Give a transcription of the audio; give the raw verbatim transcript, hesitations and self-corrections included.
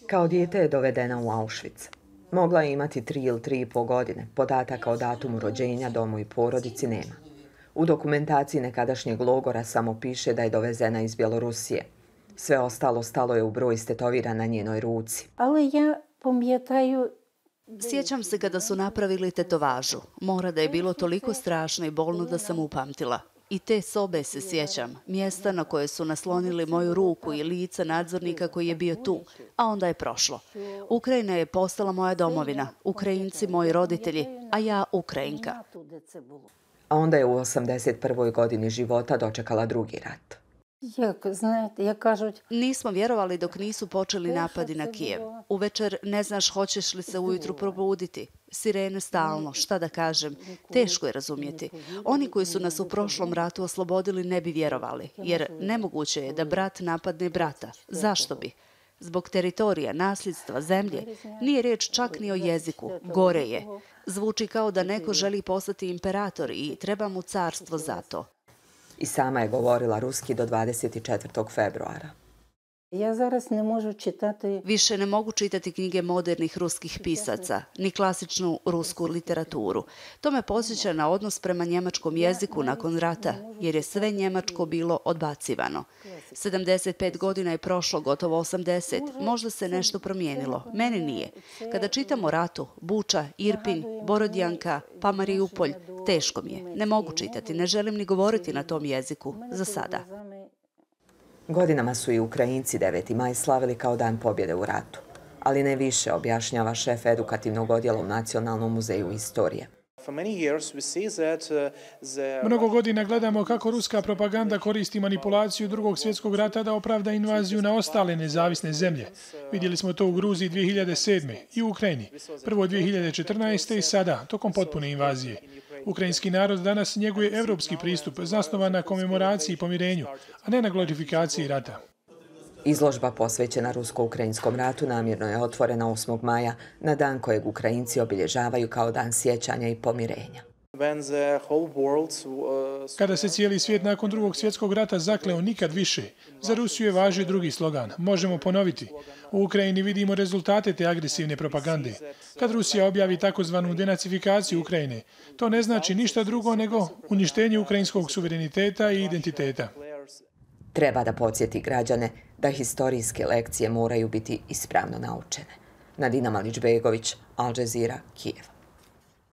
Kao dijete je dovedena u Auschwitz. Mogla je imati tri ili tri i po godine, podataka o datumu rođenja, domu i porodici nema. U dokumentaciji nekadašnjeg logora samo piše da je dovezena iz Bjelorusije. Sve ostalo stalo je u broj stetovira na njenoj ruci. Ali ja pam'ятаю. Sjećam se kada su napravili tetovažu. Mora da je bilo toliko strašno i bolno da sam upamtila. I te sobe se sjećam, mjesta na koje su naslonili moju ruku i lica nadzornika koji je bio tu, a onda je prošlo. Ukrajina je postala moja domovina, Ukrajinci moji roditelji, a ja Ukrajinka. A onda je u osamdeset prvoj godini života dočekala drugi rat. Jak, znate, jak kažуть... Nismo vjerovali dok nisu počeli napadi na Kijev. Uvečer ne znaš hoćeš li se ujutru probuditi. Sirene stalno, šta da kažem, teško je razumjeti. Oni koji su nas u prošlom ratu oslobodili ne bi vjerovali, jer nemoguće je da brat napadne brata. Zašto bi? Zbog teritorija, nasljedstva, zemlje, nije riječ čak ni o jeziku, gore je. Zvuči kao da neko želi postati imperator i treba mu carstvo za to. I sama je govorila ruski do dvadeset četvrtog februara. Ja zaraz ne možu čitati... Više ne mogu čitati knjige modernih ruskih pisaca, ni klasičnu rusku literaturu. To me podsjeća na odnos prema njemačkom jeziku nakon rata, jer je sve njemačko bilo odbacivano. sedamdeset pet godina je prošlo, gotovo osamdeset. Možda se nešto promijenilo. Meni nije. Kada čitam o ratu, Buča, Irpin, Borodjanka, pa Mariupolj, teško mi je. Ne mogu čitati, ne želim ni govoriti na tom jeziku. Za sada. Godinama su i Ukrajinci deveti maj slavili kao dan pobjede u ratu, ali ne više, objašnjava šef edukativnog odjela u Nacionalnom muzeju istorije. Mnogo godina gledamo kako ruska propaganda koristi manipulaciju drugog svjetskog rata da opravda invaziju na ostale nezavisne zemlje. Vidjeli smo to u Gruziji dvije hiljade sedme i u Ukrajini. Prvo dvije hiljade četrnaeste i sada, tokom potpune invazije. Ukrajinski narod danas njeguje evropski pristup zasnovan na komemoraciji i pomirenju, a ne na glorifikaciji rata. Izložba posvećena rusko-ukrajinskom ratu namjerno je otvorena osmog maja, na dan kojeg Ukrajinci obilježavaju kao dan sjećanja i pomirenja. Kada se cijeli svijet nakon drugog svjetskog rata zakleo nikad više, za Rusiju je važio drugi slogan. Možemo ponoviti. U Ukrajini vidimo rezultate te agresivne propagande. Kad Rusija objavi takozvanu denacifikaciju Ukrajine, to ne znači ništa drugo nego uništenje ukrajinskog suvereniteta i identiteta. Treba da podsjeti građane da historijske lekcije moraju biti ispravno naučene. Nadina Malić-Begović, Al Jazeera, Kijev.